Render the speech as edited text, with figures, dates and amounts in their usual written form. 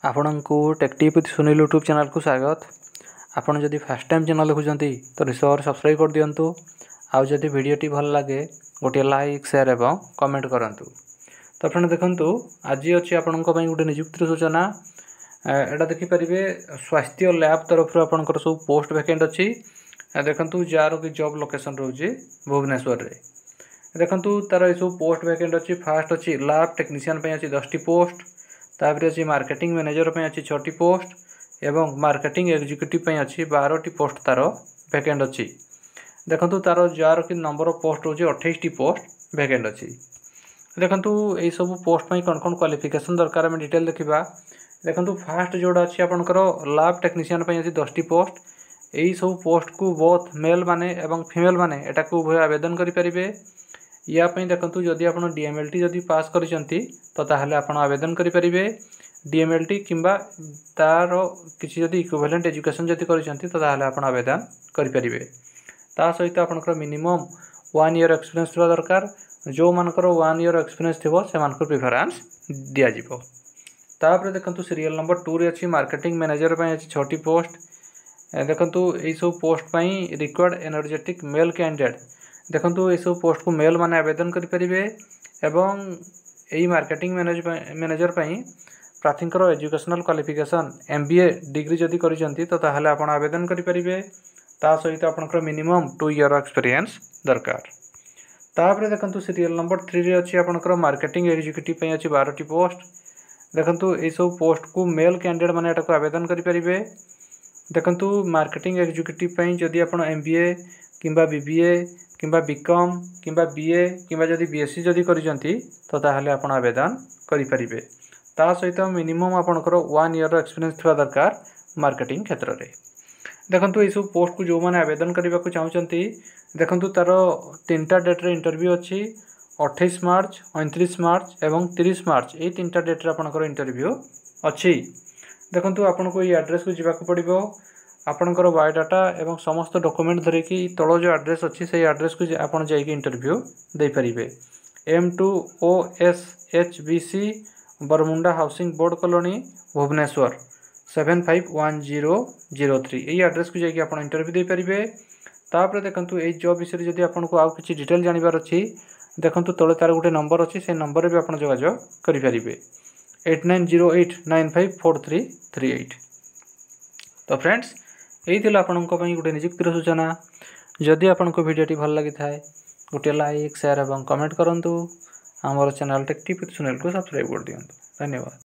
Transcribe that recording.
ଆପଣଙ୍କୁ take TV Sunil YouTube ଚ୍ୟାନେଲ୍କୁ ସ୍ୱାଗତ। ଆପଣ ଯଦି ଫାର୍ଷ୍ଟ ଟାଇମ୍ ଚ୍ୟାନେଲ୍ ଦେଖୁଛନ୍ତି, ତ ନିଶ୍ଚୟ ସବସ୍କ୍ରାଇବ୍ କରିଦିଅନ୍ତୁ। ଆଉ ଯଦି ଭିଡ଼ିଓଟି ଭଲ ଲାଗେ, ଗୋଟିଏ ଲାଇକ୍, ସେୟାର ଏବଂ କମେଣ୍ଟ କରନ୍ତୁ। ତ ଫ୍ରେଣ୍ଡ, ଦେଖନ୍ତୁ, ଆଜି ଅଛି ଆପଣଙ୍କ ପାଇଁ ଗୋଟେ ନିଯୁକ୍ତିର ସୂଚନା। ଏଇଟା ଦେଖିପାରିବେ, ସ୍ୱାସ୍ଥ୍ୟ ଲ୍ୟାବ୍ ତରଫରୁ ଆପଣଙ୍କର ସବୁ ପୋଷ୍ଟ ଭ୍ୟାକେଣ୍ଟ ଅଛି। ଦେଖନ୍ତୁ, ଯାହାର କି ଜବ୍ ଲୋକେସନ୍ ରହୁଛି ଭୁବନେଶ୍ୱରରେ। ଦେଖନ୍ତୁ, ତାର ଏସବୁ ପୋଷ୍ଟ ଭ୍ୟାକେଣ୍ଟ ଅଛି। ଫାର୍ଷ୍ଟ ଅଛି ଲ୍ୟାବ୍ ଟେକ୍ନିସିଆନ୍ ପାଇଁ ଅଛି 10ଟି ପୋଷ୍ଟ। ତାପରେ ଅଛି ମାର୍କେଟିଂ ମ୍ୟାନେଜର ପାଇଁ ଅଛି ଛଅଟି ପୋଷ୍ଟ ଏବଂ ମାର୍କେଟିଂ ଏକ୍ଜିକ୍ୟୁଟିଭ୍ ପାଇଁ ଅଛି 12ଟି ପୋଷ୍ଟ ତାର ଭ୍ୟାକେଣ୍ଟ ଅଛି। ଦେଖନ୍ତୁ, ତାର ଯାହାର କି ନମ୍ବର ଅଫ୍ ପୋଷ୍ଟ ରହୁଛି 28ଟି ପୋଷ୍ଟ ଭ୍ୟାକେଣ୍ଟ ଅଛି। ଦେଖନ୍ତୁ, ଏଇସବୁ ପୋଷ୍ଟ ପାଇଁ କ'ଣ କ'ଣ କ୍ୱାଲିଫିକେସନ୍ ଦରକାର, ଆମେ ଡିଟେଲ୍ ଦେଖିବା। ଦେଖନ୍ତୁ, ଫାର୍ଷ୍ଟ ଯେଉଁଟା ଅଛି ଆପଣଙ୍କର ଲ୍ୟାବ୍ ଟେକ୍ନିସିଆନ୍ ପାଇଁ ଅଛି 10ଟି ପୋଷ୍ଟ। ଏଇସବୁ ପୋଷ୍ଟକୁ ବୋଥ୍ ମେଲ୍ ମାନେ ଏବଂ ଫିମେଲ୍ ମାନେ ଏଟାକୁ ଉଭୟ ଆବେଦନ କରିପାରିବେ। ୟା ପାଇଁ ଦେଖନ୍ତୁ, ଯଦି ଆପଣ ଡିଏମ୍ଏଲ୍ଟି ଯଦି ପାସ୍ କରିଛନ୍ତି, ତ ତାହେଲେ ଆପଣ ଆବେଦନ କରିପାରିବେ। ଡିଏମ୍ଏଲ୍ଟି କିମ୍ବା ତା'ର କିଛି ଯଦି ଇକ୍ୱିଭାଲେଣ୍ଟ ଏଜୁକେସନ୍ ଯଦି କରିଛନ୍ତି, ତ ତାହେଲେ ଆପଣ ଆବେଦନ କରିପାରିବେ। ତା ସହିତ ଆପଣଙ୍କର ମିନିମମ୍ ୱାନ୍ ଇୟର୍ ଏକ୍ସପିରିଏନ୍ସ ଥିବା ଦରକାର। ଯେଉଁମାନଙ୍କର ୱାନ୍ ଇୟର୍ ଏକ୍ସପିରିଏନ୍ସ ଥିବ, ସେମାନଙ୍କୁ ପ୍ରିଫରାନ୍ସ ଦିଆଯିବ। ତାପରେ ଦେଖନ୍ତୁ, ସିରିଏଲ୍ ନମ୍ବର 2ରେ ଅଛି ମାର୍କେଟିଂ ମ୍ୟାନେଜର ପାଇଁ ଅଛି ଛଅଟି ପୋଷ୍ଟ। ଦେଖନ୍ତୁ, ଏଇସବୁ ପୋଷ୍ଟ ପାଇଁ ରିକ୍ୱାୟାର୍ଡ଼ ଏନର୍ଜେଟିକ୍ ମେଲ୍ କ୍ୟାଣ୍ଡିଡେଟ୍। ଦେଖନ୍ତୁ, ଏଇସବୁ ପୋଷ୍ଟକୁ ମେଲ୍ ମାନେ ଆବେଦନ କରିପାରିବେ ଏବଂ ଏଇ ମାର୍କେଟିଂ ମ୍ୟାନେଜର ପାଇଁ ପ୍ରାର୍ଥୀଙ୍କର ଏଜୁକେସନାଲ୍ କ୍ୱାଲିଫିକେସନ୍ ଏମ୍ବିଏ ଡିଗ୍ରୀ ଯଦି କରିଛନ୍ତି, ତ ତାହେଲେ ଆପଣ ଆବେଦନ କରିପାରିବେ। ତା ସହିତ ଆପଣଙ୍କର ମିନିମମ୍ 2 ଇୟର୍ ଏକ୍ସପିରିଏନ୍ସ ଦରକାର। ତାପରେ ଦେଖନ୍ତୁ, ସିରିଏଲ୍ ନମ୍ବର 3ରେ ଅଛି ଆପଣଙ୍କର ମାର୍କେଟିଂ ଏକ୍ଜିକ୍ୟୁଟିଭ୍ ପାଇଁ ଅଛି 12ଟି ପୋଷ୍ଟ। ଦେଖନ୍ତୁ, ଏଇସବୁ ପୋଷ୍ଟକୁ ମେଲ୍ କ୍ୟାଣ୍ଡିଡେଟ୍ ମାନେ ଏଟାକୁ ଆବେଦନ କରିପାରିବେ। ଦେଖନ୍ତୁ, ମାର୍କେଟିଂ ଏକ୍ଜିକ୍ୟୁଟିଭ୍ ପାଇଁ ଯଦି ଆପଣ ଏମ୍ବିଏ କିମ୍ବା ବିବିଏ କିମ୍ବା ବିକମ୍ କିମ୍ବା ବିଏ କିମ୍ବା ଯଦି ବିଏସ୍ସି ଯଦି କରିଛନ୍ତି, ତ ତାହେଲେ ଆପଣ ଆବେଦନ କରିପାରିବେ। ତା ସହିତ ମିନିମମ୍ ଆପଣଙ୍କର ୱାନ୍ ଇୟର୍ର ଏକ୍ସପିରିଏନ୍ସ ଥିବା ଦରକାର ମାର୍କେଟିଂ କ୍ଷେତ୍ରରେ। ଦେଖନ୍ତୁ, ଏଇସବୁ ପୋଷ୍ଟକୁ ଯେଉଁମାନେ ଆବେଦନ କରିବାକୁ ଚାହୁଁଛନ୍ତି, ଦେଖନ୍ତୁ, ତା'ର ତିନିଟା ଡେଟ୍ରେ ଇଣ୍ଟରଭ୍ୟୁ ଅଛି। 28 ମାର୍ଚ୍ଚ, 29 ମାର୍ଚ୍ଚ ଏବଂ 30 ମାର୍ଚ୍ଚ, ଏଇ ତିନିଟା ଡେଟ୍ରେ ଆପଣଙ୍କର ଇଣ୍ଟରଭ୍ୟୁ ଅଛି। ଦେଖନ୍ତୁ, ଆପଣଙ୍କୁ ଏଇ ଆଡ୍ରେସ୍କୁ ଯିବାକୁ ପଡ଼ିବ। ଆପଣଙ୍କର ବାୟୋଡାଟା ଏବଂ ସମସ୍ତ ଡକୁମେଣ୍ଟ ଧରିକି ତଳ ଯେଉଁ ଆଡ୍ରେସ୍ ଅଛି, ସେଇ ଆଡ୍ରେସ୍କୁ ଆପଣ ଯାଇକି ଇଣ୍ଟରଭ୍ୟୁ ଦେଇପାରିବେ। M2 OSHBC, Baramunda housing board colony, Bhubaneswar 751003, ଏଇ ଆଡ୍ରେସ୍କୁ ଯାଇକି ଆପଣ ଇଣ୍ଟରଭ୍ୟୁ ଦେଇପାରିବେ। ତାପରେ ଦେଖନ୍ତୁ, ଏଇ ଜବ୍ ବିଷୟରେ ଯଦି ଆପଣଙ୍କୁ ଆଉ କିଛି ଡିଟେଲ୍ ଜାଣିବାର ଅଛି, ଦେଖନ୍ତୁ, ତଳେ ତା'ର ଗୋଟେ ନମ୍ବର ଅଛି। ସେ ନମ୍ବରରେ ବି ଆପଣ ଯୋଗାଯୋଗ କରିପାରିବେ, 8908954338। ତ ଫ୍ରେଣ୍ଡସ୍, ଏଇ ଥିଲା ଆପଣଙ୍କ ପାଇଁ ଗୋଟେ ନିଯୁକ୍ତିର ସୂଚନା। ଯଦି ଆପଣଙ୍କୁ ଭିଡ଼ିଓଟି ଭଲ ଲାଗିଥାଏ, ଗୋଟିଏ ଲାଇକ୍, ସେୟାର ଏବଂ କମେଣ୍ଟ କରନ୍ତୁ। ଆମର ଚ୍ୟାନେଲ୍ ଟେକ୍ ଟିଭ୍ ସୁନୀଲକୁ ସବସ୍କ୍ରାଇବ୍ କରିଦିଅନ୍ତୁ। ଧନ୍ୟବାଦ।